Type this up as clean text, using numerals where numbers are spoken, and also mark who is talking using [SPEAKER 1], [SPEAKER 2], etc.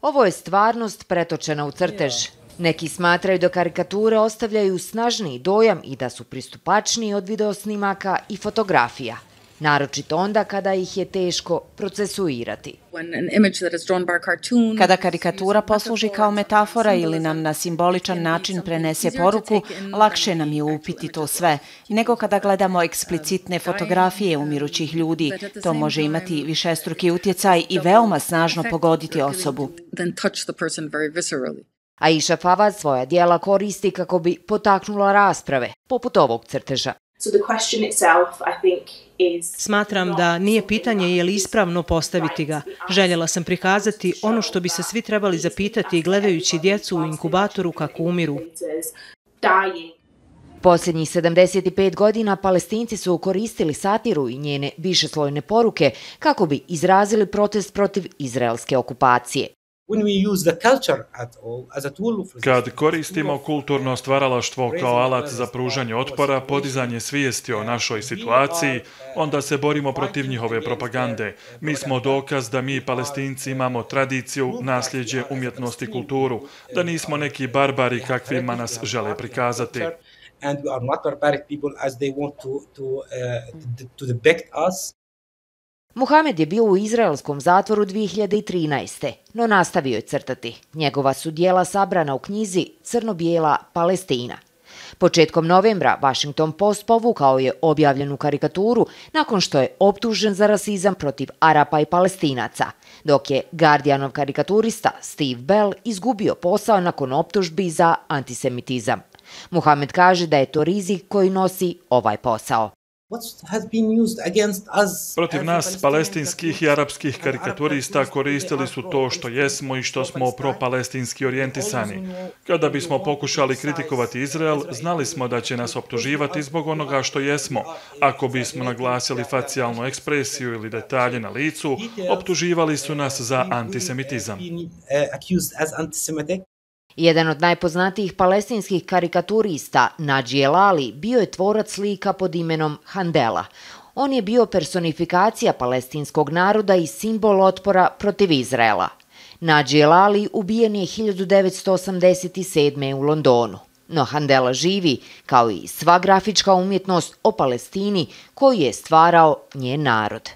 [SPEAKER 1] Ovo je stvarnost pretočena u crtež. Neki smatraju da karikature ostavljaju snažniji dojam i da su pristupačniji od videosnimaka i fotografija, naročito onda kada ih je teško procesuirati.
[SPEAKER 2] Kada karikatura posluži kao metafora ili nam na simboličan način prenese poruku, lakše nam je upiti to sve, nego kada gledamo eksplicitne fotografije umirućih ljudi. To može imati višestruki utjecaj i veoma snažno pogoditi osobu.
[SPEAKER 1] Aisha Fawaz svoja djela koristi kako bi potaknula rasprave, poput ovog crteža.
[SPEAKER 3] Smatram da nije pitanje je li ispravno postaviti ga. Željela sam prikazati ono što bi se svi trebali zapitati gledajući djecu u inkubatoru kako umiru.
[SPEAKER 1] Posljednjih 75 godina Palestinci su koristili satiru i njene višeslojne poruke kako bi izrazili protest protiv izraelske okupacije.
[SPEAKER 4] Kad koristimo kulturno stvaralaštvo kao alat za pružanje otpora, podizanje svijesti o našoj situaciji, onda se borimo protiv njihove propagande. Mi smo dokaz da mi Palestinci imamo tradiciju, nasljeđe, umjetnost i kulturu, da nismo neki barbari kakvima nas žele prikazati.
[SPEAKER 1] Muhamed je bio u izraelskom zatvoru 2013. no nastavio je crtati. Njegova su djela sabrana u knjizi Crno-bijela Palestina. Početkom novembra Washington Post povukao je objavljenu karikaturu nakon što je optužen za rasizam protiv Arapa i Palestinaca, dok je Guardianov karikaturista Steve Bell izgubio posao nakon optužbi za antisemitizam. Muhamed kaže da je to rizik koji nosi ovaj posao.
[SPEAKER 4] Protiv nas, palestinskih i arapskih karikaturista, koristili su to što jesmo i što smo pro-palestinski orijentisani. Kada bismo pokušali kritikovati Izrael, znali smo da će nas optuživati zbog onoga što jesmo. Ako bismo naglasili facijalnu ekspresiju ili detalje na licu, optuživali su nas za antisemitizam.
[SPEAKER 1] Jedan od najpoznatijih palestinskih karikaturista, Nadžijel Ali, bio je tvorac slika pod imenom Handela. On je bio personifikacija palestinskog naroda i simbol otpora protiv Izraela. Nadžijel Ali ubijen je 1987. u Londonu. No Handela živi, kao i sva grafička umjetnost o Palestini koju je stvarao njen narod.